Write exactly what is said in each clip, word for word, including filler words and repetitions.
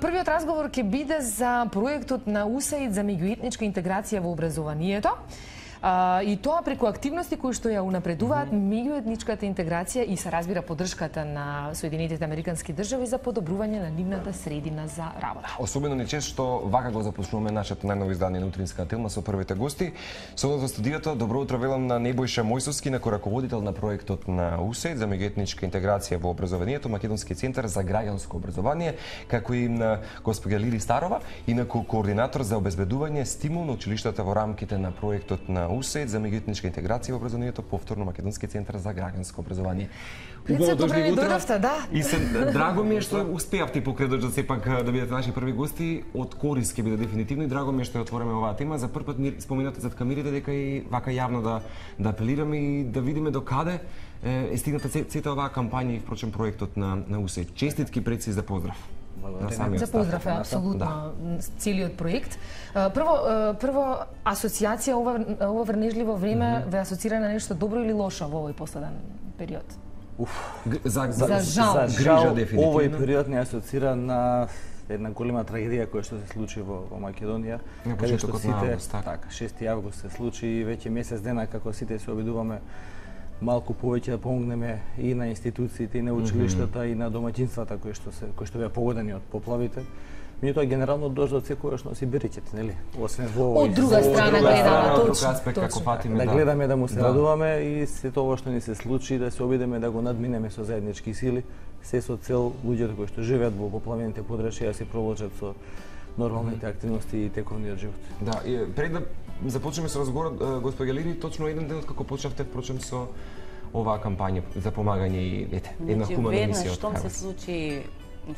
Првиот разговор ќе биде за проектот на УСАИД за меѓуетничка интеграција во образованието. А, и тоа преку активности кои што ја унапредуваат mm -hmm. меѓуетничката интеграција и се разбира поддршката на Соединетите Американски држави за подобрување на нивната средина за работа. Особено ни чест што вака го започнуваме нашето најново издание на Утринска телма со првите гости. Со нас во студиото добро утро велам на Небојша Мојсовски, на раководител на проектот на УСАИД за меѓуетничка интеграција во образованието, Македонски центар за граѓанско образование, како и на госпоѓа Лири Старова, и на координатор за обезбедување стимул на училиштата во рамките на проектот на УСАИД за меѓуетничка интеграција во образованието, повторно Македонски центар за граѓанско образование. Убаво дошли утро. Да. И се драго ми е што успеавте покрај да сепак да бидете наши први гости. Од корис ќе биде дефинитивно и драго ми е што ја отвориме оваа тема. За прв пат ми споменате зад камерите дека и вака јавно да да апелираме и да видиме до каде е стигната сета оваа кампања и впрочем проектот на на УСАИД. Честитки пред се за поздрав. За поздрав е апсолутно да. Целиот проект. Прво, прво асоциација ова ова врнежливо време mm -hmm. ве асоцира на нешто добро или лошо во овој последен период? Уф, за, за, за жал, за жал овој период не асоцира на една голема трагедија која што се случи во, во Македонија, каде што сите, така, шести август се случи и веќе месец дена како сите се обидуваме малку повеќе да помогнеме и на институциите, и на училиштата, mm -hmm. и на домаќинствата кои што се кои што беа погодени од поплавите. Меѓутоа генерално дождот секогаш носи беричет, нели? Освен во од друга страна гледаме точно аспект како патиме да гледаме да му се радуваме и сето ова што ни се случи да се обидеме да го надминеме со заеднички сили, се со цел луѓето кои што живеат во поплавените подрачја да се провлачат со нормалните активности и тековниот живот. Да, и пред да започнеме со разговорот, господја Лири, точно еден ден како почнавте впрочем со оваа кампања за помагање и ете, една хумана мисија. Веднаш штом се случи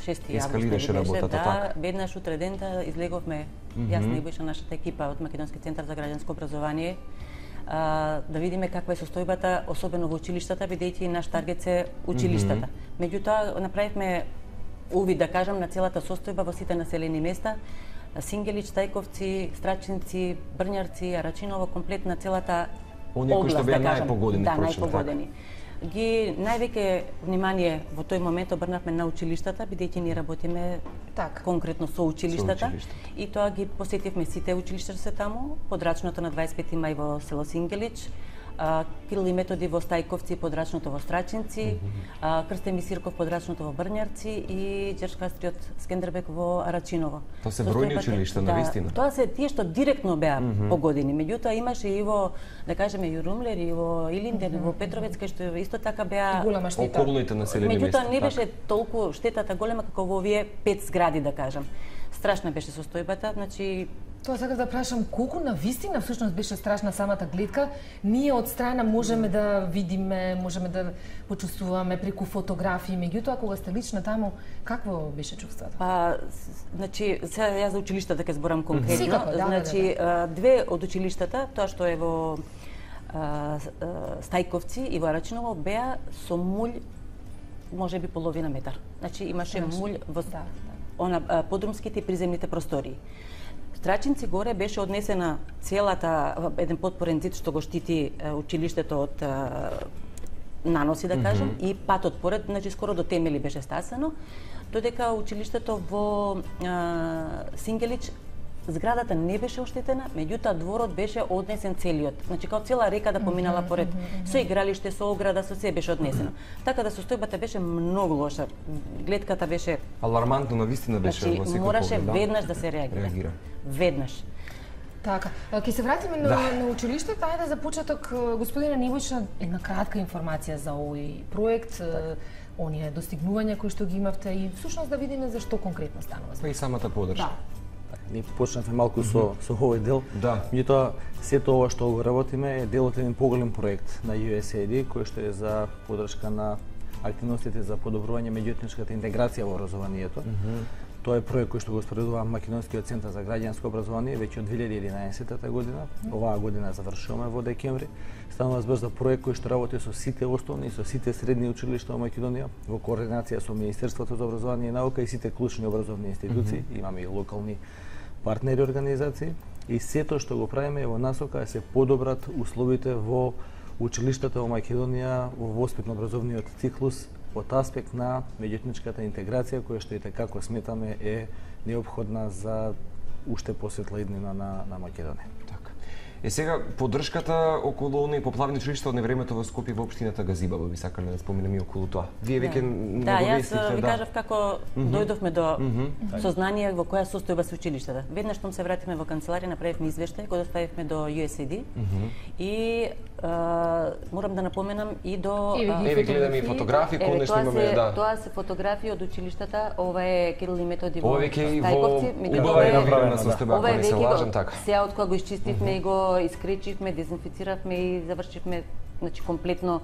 шести август, ескалираше работата, да, така. Веднаш утре дента излеговме, mm -hmm. јас Небојша, нашата екипа од Македонски центар за граѓанско образование, а, да видиме каква е состојбата, особено во училиштата, бидејќи наш таргет се училиштата. Mm -hmm. Меѓутоа, направивме увид, да кажам, на целата состојба во сите населени места, Сингелич, Стајковци, Страчинци, Брњарци, Арачиново, комплет на целата оние кои што беа да најпогодени, да, најпогодени. Ги највеќе внимание во тој момент обрнавме на училиштата, бидејќи ние работиме так конкретно со училиштата, со училиштата и тоа ги посетивме сите училишта се таму, подрачното на дваесет и пети мај во село Сингелич, Кирил и Методи во Стајковци, подрачното во Страчинци, mm -hmm. Крстем и Сирков, подрачното во Брњарци и Џершкастриот Скендербек во Арачиново. Тоа се бројни училишта, да, навистина. Тоа се тие што директно беа mm -hmm. погодени. Меѓутоа имаше и во, да кажеме, Јурумлер и во Илинден, mm -hmm. во Петровец, кај што исто така беа голема штета. Околните населени места. Меѓутоа не беше толку штетата голема како во овие пет згради, да кажам. Страшна беше состојбата, значи Тоа сакав да прашам, колку на вистина всушност беше страшна самата гледка? Ние од страна можеме да видиме, можеме да почувствуваме преку фотографии, меѓутоа кога сте лично таму, какво беше чувството? Па, значи, сега јас за училиштата ќе зборам конкретно. Секако, да, значи, да, да. две од училиштата, тоа што е во а, Стајковци и во Арачиново, беа со мулј можеби половина метар. Значи имаше мулј во да, да. она подрумските и приземните простории. Страчинци горе беше однесена целата еден потпорен зид што го штити училиштето од наноси, да кажам, mm -hmm. и патот поред, значи скоро до темели беше стасано, додека училиштето во а, Сингелич зградата не беше оштетена, меѓутоа дворот беше однесен целиот. Значи као цела река да поминала поред, со игралиште, со ограда, со се беше однесено. Така да состојбата беше многу лоша. Гледката беше алармантно, навистина беше значи, во секој мораше поглед, да? веднаш да се реагира. реагира. Веднаш. Така, ќе се вратиме на, да. на училиштето. Ајде за почеток, господине Небојша, една кратка информација за овој проект, так. оние достигнувања кои што ги имавте и всушност да видиме за што конкретно станува. Па и самата подршка. Да. Ние почнавме малку со, mm -hmm. со овој дел. Да. Меѓутоа, сето ова што го работиме е дел од еден поголем проект на ю ес ей ай ди, кој што е за поддршка на активностите за подобрување меѓуетничката интеграција во образованието. Mm -hmm. Тоа е проект кој што го спроведува Македонскиот центар за граѓанско образование веќе од две илјади и единаесета година. Оваа година завршуваме во декември. Станува збор за проект кој што работи со сите основни и со сите средни училишта во Македонија во координација со Министерството за образование и наука и сите клучни образовни институции. Mm -hmm. Имаме и локални партнери организации и сето што го правиме е во насока да се подобрат условите во училиштата во Македонија во воспитно-образовниот циклус од аспект на меѓуетничката интеграција, која што и како сметаме е неопходна за уште посветла иднина на, на Македонија. Така. Е сега поддршката околу оние поплавни училишта од невремето во Скопје во општината Газибаба, би сакале да споменеме и околу тоа. Вие веќе да, јас ви кажав како mm -hmm. дојдовме до mm -hmm. сознание во која состојба се училиштата. Веднаш што се вративме во канцеларија, направивме извештај, го доставивме до Ю Ес Ей Ди mm -hmm. и а, морам да напоменам и до Еве гледаме и фотографии, конечно имаме, да. Тоа се фотографии од училиштата, ова е Кирил и Методи во Стајковци, убава е направена состојба, ако не се лажам така. Сега од кога го изчистивме и го искречивме, дезинфициравме и завршивме, значи комплетно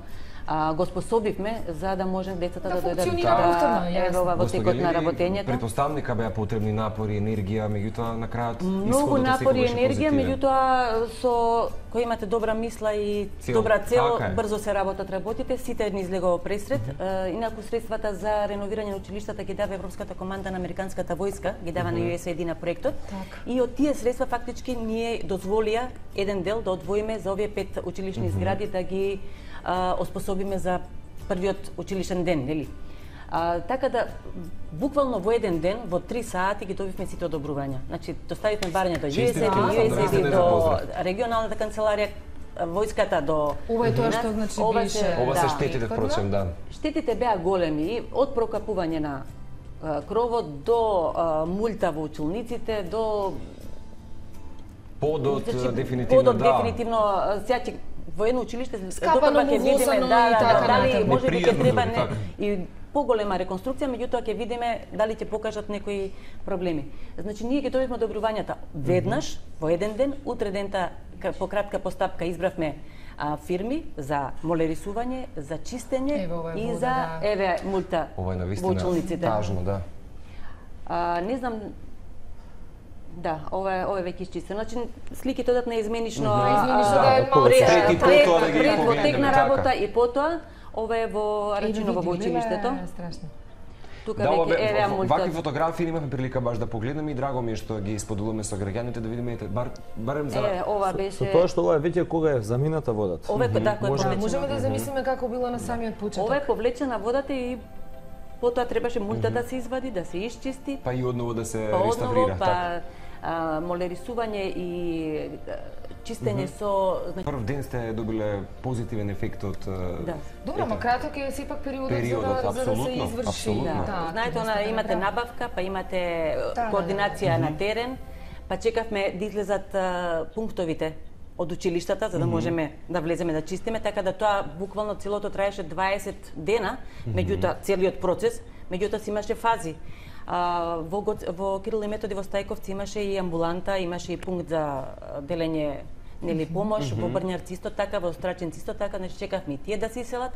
а, го способивме за да може децата да, да дојдат да во текот на работењето. Претпоставника беа потребни напори, енергија, меѓутоа на крајот многу напори и енергија, меѓутоа со кој имате добра мисла и цел. добра цел, така брзо се работат работите, сите ни излегува пресред. Mm -hmm. Инаку средствата за реновирање на училиштата ги дава Европската команда на американската војска, ги дава mm -hmm. на Ю Ес Ей Ди на проектот. Так. И од тие средства фактички ние дозволија еден дел да одвоиме за овие пет училишни mm -hmm. згради да ги а, оспособиме за првиот училишен ден, нели? А, така да, буквално во еден ден, во три сати ги добивме сите одобрувања. Значи, доставивме барања до Ю Ес Ей Ди, Ю Ес Ей Ди, до регионалната канцеларија, војската, до... Ова е тоа што значи беше... Ова се штетите, впрочем, да. Штетите беа големи, од прокапување на а, кровот, до а, мулта во училниците, до... Подот, значи, дефинитивно, подот, да. дефинитивно, сега ќе во едно училиште, скапано му видиме, да, да, дали може би ќе треба не, и поголема реконструкција, меѓутоа ќе видиме дали ќе покажат некои проблеми. Значи ние ќе добивме одобрувањата веднаш во еден ден, утре дента по кратка постапка избравме а, фирми за молерисување, за чистење еве, и вода, за да. еве мулта во училниците. Тажно, да. А, не знам. Да, ова е ова е веќе изчистено. Значи сликите одат на изменично, mm -hmm. изменично да, да, пред и потоа да ги пред во тек на работа и потоа ова е во Рачиново во училиштето. Страшно. Тука веќе еве мултот. Вакви фотографии имавме прилика баш да погледнеме и драго ми е што ги споделуваме со граѓаните да видиме бар барем за е, ова беше со тоа што ова е веќе кога е замината водата. Ова е да, кој може можеме да замислиме како било на самиот почеток. Ова е повлечена водата и потоа требаше мулта да се извади, да се исчисти. Па и одново да се па реставрира, па, така. А, молерисување и чистење mm -hmm. со... Значи... Прв ден сте добиле позитивен ефект од... Да. Добро, ма краток е сепак периодот, периодот за, да, за да се изврши. Апсолутно. Да, да. Знаете, она, имате набавка, па имате да, координација да, да. на терен, па чекавме да излезат а, пунктовите од училиштата, за да можеме да влеземе да чистиме, така да тоа буквално целото траеше дваесет дена, меѓутоа целиот процес, меѓутоа си имаше фази. А, во, во Кирил и Методи во Стајковци имаше и амбуланта, имаше и пункт за делење нели помош, mm -hmm. во Брњарци исто така, во Страченци исто така, значи чекавме и тие да се иселат,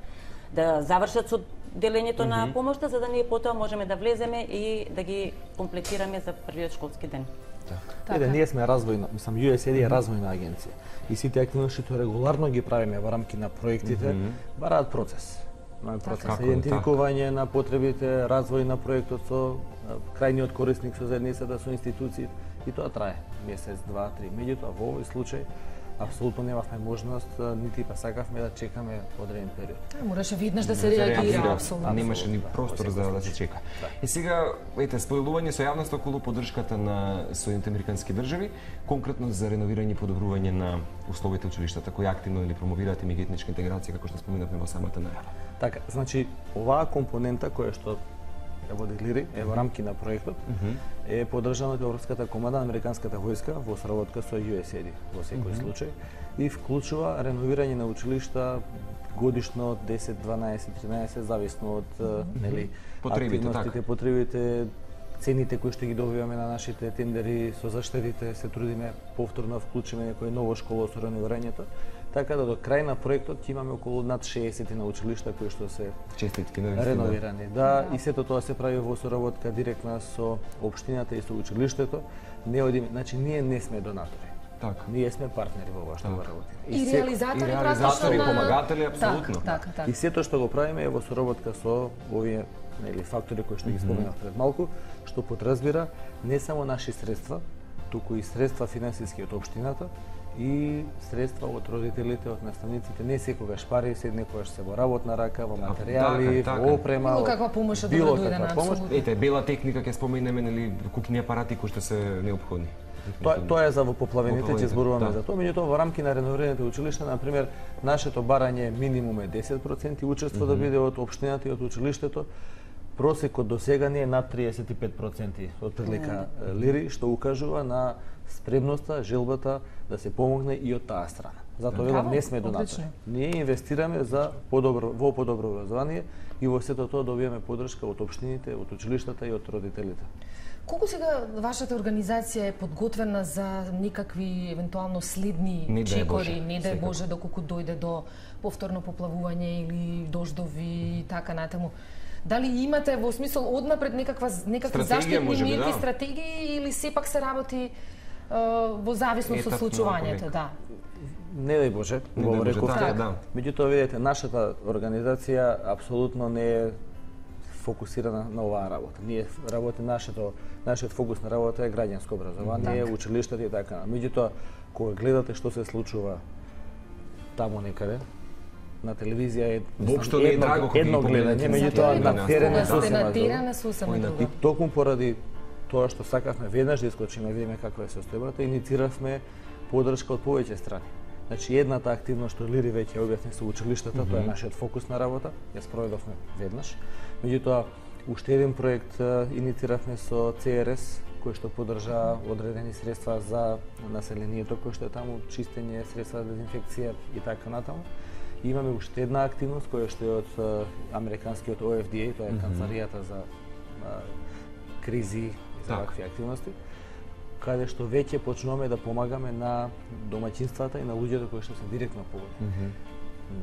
да завршат со делењето mm -hmm. на помошта, за да ние потоа можеме да влеземе и да ги комплетираме за првиот школски ден. Така. Еде, ние сме развојна, мислам, Ю Ес Ей Ди е развојна агенција и сите активности што регуларно ги правиме во рамки на проектите mm -hmm. бараат процес. На процес идентификување на потребите, развој на проектот со крајниот корисник, со заедницата, со институциите и тоа трае месец, два, три. Меѓутоа во овој случај апсолутно немавме можност, нити па сакавме да чекаме одреден период. Мораше виднаш да се реагира, апсолутно. А немаше ни простор за да се чека. Да. И сега, ете, споделување со јавноста околу поддршката на Соединените американски држави, конкретно за реновирање и подобрување на условите училиштата, кои активно или промовираат меѓуетничка интеграција, како што споменавме во самата најава. Така, значи, оваа компонента која што ја води Лири, е во рамки на проектот, mm -hmm. е поддржана од Европската команда на американската војска во соработка со Ю Ес Ей Ди во секој mm -hmm. случај и вклучува реновирање на училишта годишно десет, дванаесет, тринаесет зависно од mm -hmm. нели потребите, активностите, потребите, цените кои што ги добиваме на нашите тендери со заштедите, се трудиме повторно вклучиме некој ново школо со реновирањето. Така да до крај на проектот ќе имаме околу над шеесет на училишта кои што се честитки на реновирани. Да, и сето тоа се прави во соработка директна со општината и со училиштето. Не одиме, значи ние не сме донатори. Така. Ние сме партнери во ова што го работиме. И, и реализатори, и реализатори, и помагатели, апсолутно. Так, така, така. И сето што го правиме е во соработка со овие нели фактори кои што ги споменав пред малку, што подразбира не само наши средства, туку и средства финансиски од општината и средства од родителите, од наставниците, не секогаш пари, се некогаш се во работна рака, во материјали, така, така. во опрема. Било каква помош од било дојде на каква помош. апсолутно. Ете, бела техника ќе споменеме, нели, кукни апарати кои што се неопходни. Тоа тоа е за во поплавените, ќе Поплавените, зборуваме да. за тоа, меѓутоа во рамки на реновираните училишта, на пример, нашето барање минимум е десет проценти учество да биде од општината и од училиштето. Просекот до сега не е над триесет и пет проценти од прилика лири, што укажува на спремноста, желбата да се помогне и од таа страна. Затоа велам не сме донатори. Одлично. Ние инвестираме за подобро во подобро образование и во сето тоа добиваме поддршка од општините, од училиштата и од родителите. Колку сега вашата организација е подготвена за никакви евентуално следни Не дај чекори, Боже, не дај секако. Боже, доколку дојде до повторно поплавување или дождови и така натаму? Дали имате во смисол однапред некаква некакви Стратегија, заштитни можеби, мерки, да. стратегии или сепак се работи е, во зависност од Етапно, случувањето, ако да? Не дај Боже, Не го дај Боже, рековте. така, да. Меѓутоа, видите, нашата организација апсолутно не е фокусирана на оваа работа. Ние работи нашето нашиот фокус на работа е граѓанско образование, Така. училиштата и така. Меѓутоа, кога гледате што се случува таму некаде, на телевизија е Воопшто не е драго кога едно ги гледање, погледнете меѓутоа на на терен, терен да. е Кога сте сосема на друго. терен е сосема Ој, на друго. И токму поради тоа што сакавме веднаш да искочиме, видиме каква е состојбата, иницииравме поддршка од повеќе страни. Значи, едната активност што Лири веќе објасни со училиштата, тоа е нашиот фокус на работа, ја спроведовме веднаш. Меѓутоа, уште еден проект а, иницииравме со Це Ер Ес, кој што поддржа одредени средства за населението кој што е таму, чистење, средства за дезинфекција и така натаму. И имаме уште една активност која што е од а, американскиот О Ф Д А, тоа е канцеларијата за а, кризи и за Так. вакви активности, каде што веќе почнуваме да помагаме на домаќинствата и на луѓето кои што се директно погодени.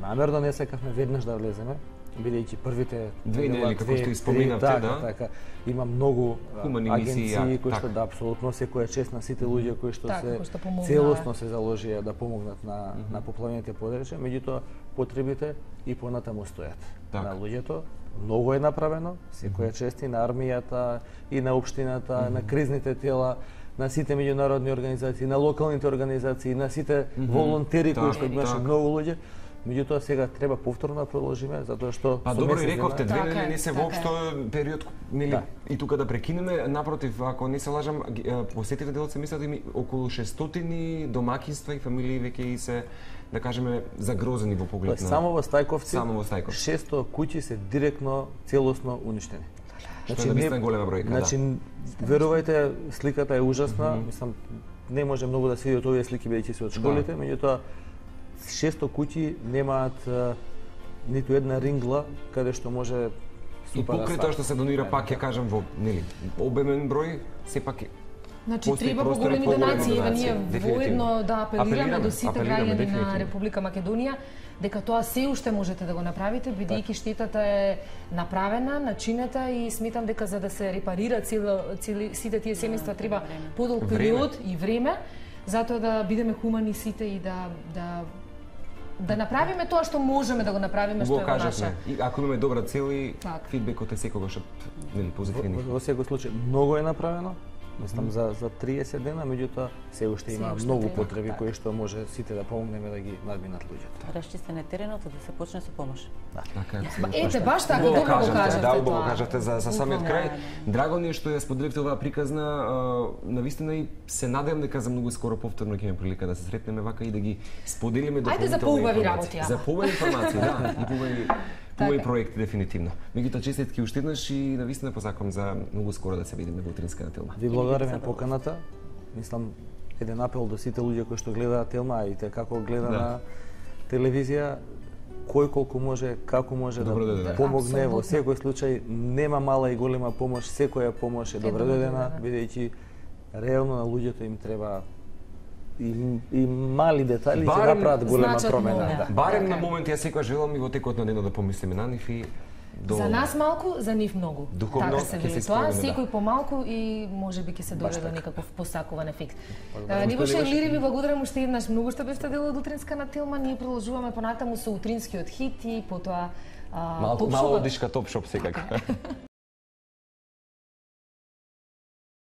Намерно не сакавме веднаш да влеземе, бидејќи првите Две нела, недели, како две, што три, испоминавте, така, да. така. Има многу а, Хумани мисии, агенции ја, кои што така. да апсолутно секоја чест на сите луѓе кои што Така, се кои што помогнаа. целосно се заложија да помогнат на на поплавените подречја, меѓутоа потребите и понатаму стојат. Така. На луѓето многу е направено, секоја чест и на армијата, и на општината, на кризните тела, на сите меѓународни организации, на локалните организации, на сите волонтери кои Така, што имаше така. многу луѓе. Меѓутоа сега треба повторно да продолжиме затоа што Па со добро и месец рековте, дена- две Така недели е, не се така е. воопшто период, нели, Да. и тука да прекинеме, напротив, ако не се лажам, ги- е, посетите делот се мислат и околу шестстотини домаќинства и фамилии веќе и се, да кажеме, загрозени во поглед Тоест, на... само во Стајковци, Само во Стајковци. шесто куќи се директно, целосно уништени. Што е навистина голема бројка, да. Значи, верувајте, сликата е ужасна, мислам, не може многу да се види од овие слики бидејќи се од школите, меѓутоа шесто куќи немаат а, ниту една рингла каде што може И супа да покрај стави. тоа што се донира, пак ќе кажам во, нели, обемен број, сепак е Значи, Постои треба простор и поголеми поголеми донации, еве ние донации, дефинитивно. воедно да апелираме Апелираме, до сите апелираме, граѓани на дефинитивно. Република Македонија дека тоа се уште можете да го направите, бидејќи штетата е направена, начинета и сметам дека за да се репарира цел, цели, сите тие семејства треба подолг Време. период и време, затоа да бидеме хумани сите и да да да направиме тоа што можеме да го направиме, што го е во наша. кажавме. И ако имаме добра цел и Так. фидбекот е секогаш нели Во, позитивни. во, во секој случај многу е направено. Мислам за за триесет дена, меѓутоа се уште Се има уште многу треба, потреби така. кои што може сите да помогнеме да ги надминат луѓето. Расчистен е теренот за да се почне со помош. Така е. Ба, ете, баш така, Убаво добро го кажавте, кажавте да, убаво тоа. кажавте за, за самиот Буквално. крај. Драго ни е што ја споделивте оваа приказна, а, навистина и се надевам дека за многу скоро повторно ќе имаме прилика да се сретнеме вака и да ги споделиме Ајде за дополнителни поубави информации. работи, ама. За поубави информации, да, и поубави поубави Така. проекти дефинитивно. Меѓутоа честитки уште еднаш и навистина посакувам за многу скоро да се видиме во утринска на Телма. Ви благодариме на поканата. Мислам, еден апел до сите луѓе кои што гледаат Телма и те како гледа Да. на телевизија, кој колку може, како може Добро да дојде. помогне во Апсолутно. секој случај, нема мала и голема помош, секоја помош е добро добро дојдена, дојдена. бидејќи реално на луѓето им треба и, и мали детали ќе Барем направат голема значат промена. многу. Да. Барем Така на е. моменти ја секогаш желам и во текот на денот да помислиме на нив и до... За нас малку, за нив многу. Духовно така се ќе вели се тоа, исполнеме, да. секој помалку и можеби ќе се Баш дојде до така. некаков посакуван ефект. Благодарам, Нивоше Нивоше. Лири, ви благодарам уште еднаш многу што бевте дел од утринска на Телма. Ние продолжуваме понатаму со утринскиот хит и потоа а, Малку, топ мало шоу. одишка топ шоп секако.